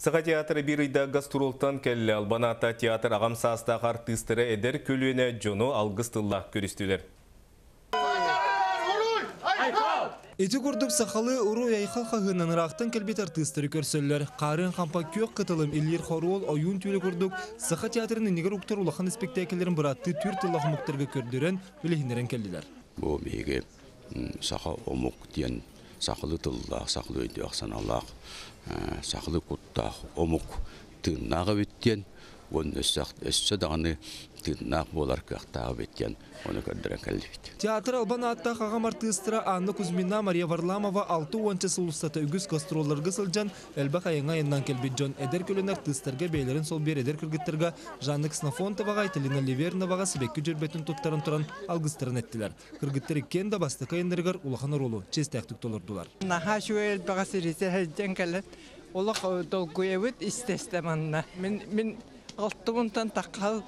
Сыға театры bir үйді гастролтан кәлі Албаната театр ағам састағы артыстыры әдер көлуіне жону алғыстыллақ көрістілер. Эти көрдік сақалы ұру яйқал қағынан рақтың кәлбет артыстыры көрсөллер. Қарын қампа көк қытылым Эльер Хорол ойын түйілі көрдік. Сыға театрының негер ұқтар ұлақан спектаклерін бұратты түр тыллақ мұқтарға көрдірен білігіндерін кәлділер. Бұл меге сақы омық ден сақылы тыллақ, сақылы өйді ақсаналақ, сақылы құттақ, омық тыңнағы беттен, оның өссі дағаны тыңнақ болар қақтағы беттен, оны көрдірен кәлді бет. Театр Албаната қағам артыстыра Анна Кузьмина, Мария Варламова 6-10 сылыстаты үгіз гастролларға сылжан, әлбақ айыңа еннан кәлбет жон әдер көлін артыстарға бейлерін сол бер әдер кіргіттірға Жанны Ксенофонтоваға, Айталина Ливерноваға себеккі жүрбетін тұттарын тұран алғыстырын әттілер. Кіргіттері кен да бастықы ендергер улахан ролу, честәқтік толырдылар. Наха шуел баға сиресе хәлден кәлін, олық долгуевіт истестеманна. Мен алтығынтан таққал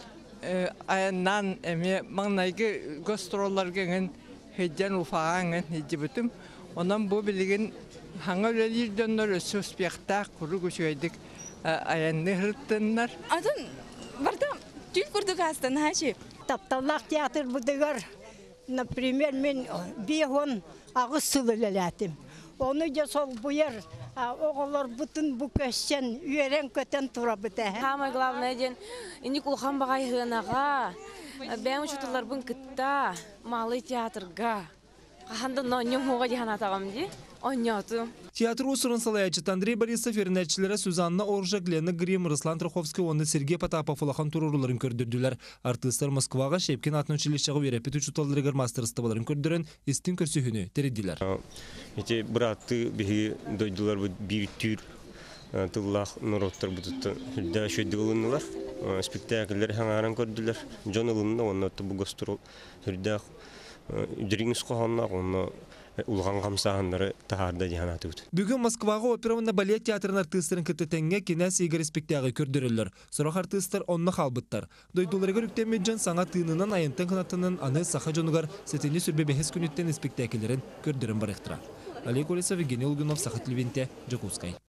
аяннан әме маңнайғы гастролларгенген хәлден уфағанген хәлді бүтім. Онан бұл білген хаңа өлелерденлер сөспектақ құры көшейдік аянны ғырттынлар. Атын барда түл күрдік астын хәшіп. Тапталлақ театр бұдығар. Например, мен бейхон ағыз сүлілеләтім. Оны да сол бұйыр, оғылар бұтын бүкәшен, үйерен көтен тұра бұты. Самое главное ден, инди кулхан бағай ғынаға, бәң ұшытылар бұн күтта, малы театрға. Қаханды ноньым хоға дехана тағам де, оньятым. Театр усурын салаячыт Андрей Борисов ернәтчілері Сюзанна Оржа, Глена Грим, Руслан Троховский, оны Сергей Потапов улахан туруруларын көрдірділер. Артыстар Москваға Шепкин атын училищағы верепет учуталдырығыр мастерстываларын көрдірін істін көрсүйіні тередділер. Эти браты беги дойдылар bir tür тыллах народтар бутутта да шөйдүлүнүлар спектакльлер хаңаран көрдүлөр жон ылынна онна бу гастрол хүрдах дрингс коханна онна улган камсаандары таарда жаанатыбыт. Бүгүн Москвага операвында балет театрын артысттарын кытытенге кинес игер спектакль көрдүрөлөр. Сорох артысттар онна халбыттар. Дойдуларга үктемеджен саңа тыынынан айынтын кынатынын аны саха жонугар сетени сүрбе бехес күнүттен спектакльлерин көрдүрөн барыктыра. Олег Олесов, Евгений Лугунов, Сахат Левенте, Жакускай.